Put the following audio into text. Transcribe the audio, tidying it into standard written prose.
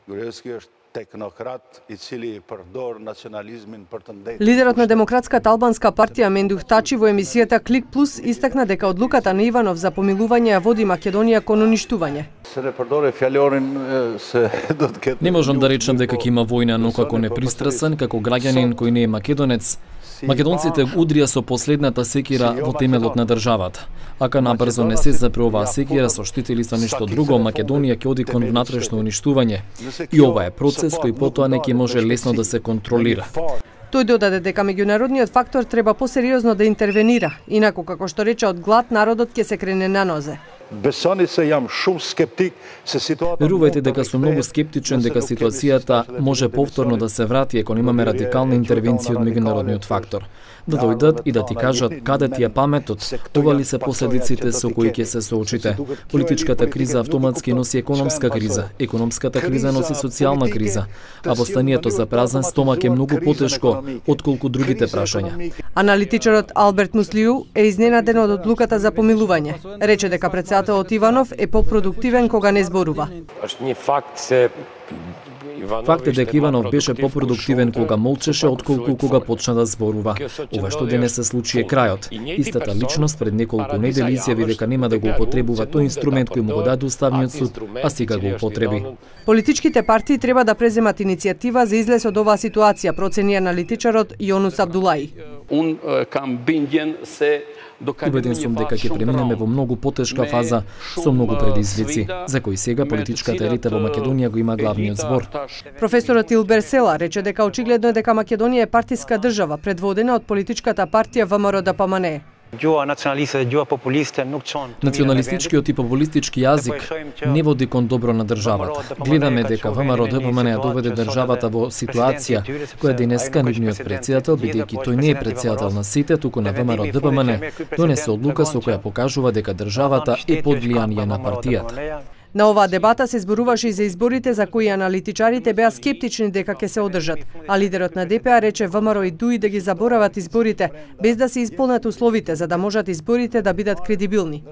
Gruevski është технократ и цели продор национализмин për të ndajtur. Лидерот на Демократската албанска партија Мендух Тачи во емисијата Клик Плюс истакна дека одлуката на Иванов за помилување ја води Македонија кон уништување. Не можам да речам дека ќе има војна, но како непристрасен, како граѓанин кој не е македонец, македонците удрија со последната секира во темелот на државата. Ака набрзо не се запре оваа секира со штители со ништо друго, Македонија ќе оди кон внатрешно уништување. И ова е процес кој потоа не ќе може лесно да се контролира. Тој додаде дека меѓународниот фактор треба посериозно да интервенира, инаку како што рече од глад народот ќе се крене на нозе. Besoni se jam shumë skeptik se situata. Верувајте дека сум многу скептичен дека ситуацијата може повторно да се врати ако немаме радикална интервенција од меѓународниот фактор. Да дојдат и да ти кажат каде ти е паметот, ова ли се последиците со кои ќе се соочите. Политичката криза автоматски носи економска криза, економската криза носи социјална криза, а востанието за празен стомак е многу потешко отколку другите прашања. Аналитичарот Алберт Муслиу е изненаден од одлуката за помилување. Рече дека председателот Иванов е попродуктивен кога не зборува. Факт е дека Иванов беше попродуктивен кога молчеше отколку кога почна да зборува. Ова што денес се случи е крајот. Истата личност пред неколку недели изјави дека нема да го употребува тој инструмент кој му го даде Уставниот суд, а сега го употреби. Политичките партии треба да преземат иницијатива за излез од оваа ситуација, процени аналитичарот Јонус Абдулаи. Убеден сум дека ќе преминеме во многу потешка фаза со многу предизвици, за кои сега политичката елита во Македонија го има главниот збор. Професорот Илбер Села рече дека очигледно е дека Македонија е партиска држава, предводена од политичката партија ВМРО-ДПМНЕ. Националистичкиот и популистички јазик не води кон добро на државата. Гледаме дека ВМРО-ДПМНЕ доведе државата во ситуација која денеска нивниот председател, бидејќи тој не е председател на сите, туку на ВМРО-ДПМНЕ, донесе одлука со која покажува дека државата е под влијание на партијата. На оваа дебата се зборуваше и за изборите за кои аналитичарите беа скептични дека ќе се одржат, а лидерот на ДПА рече ВМРО и ДУИ да ги заборават изборите без да се исполнат условите за да можат изборите да бидат кредибилни.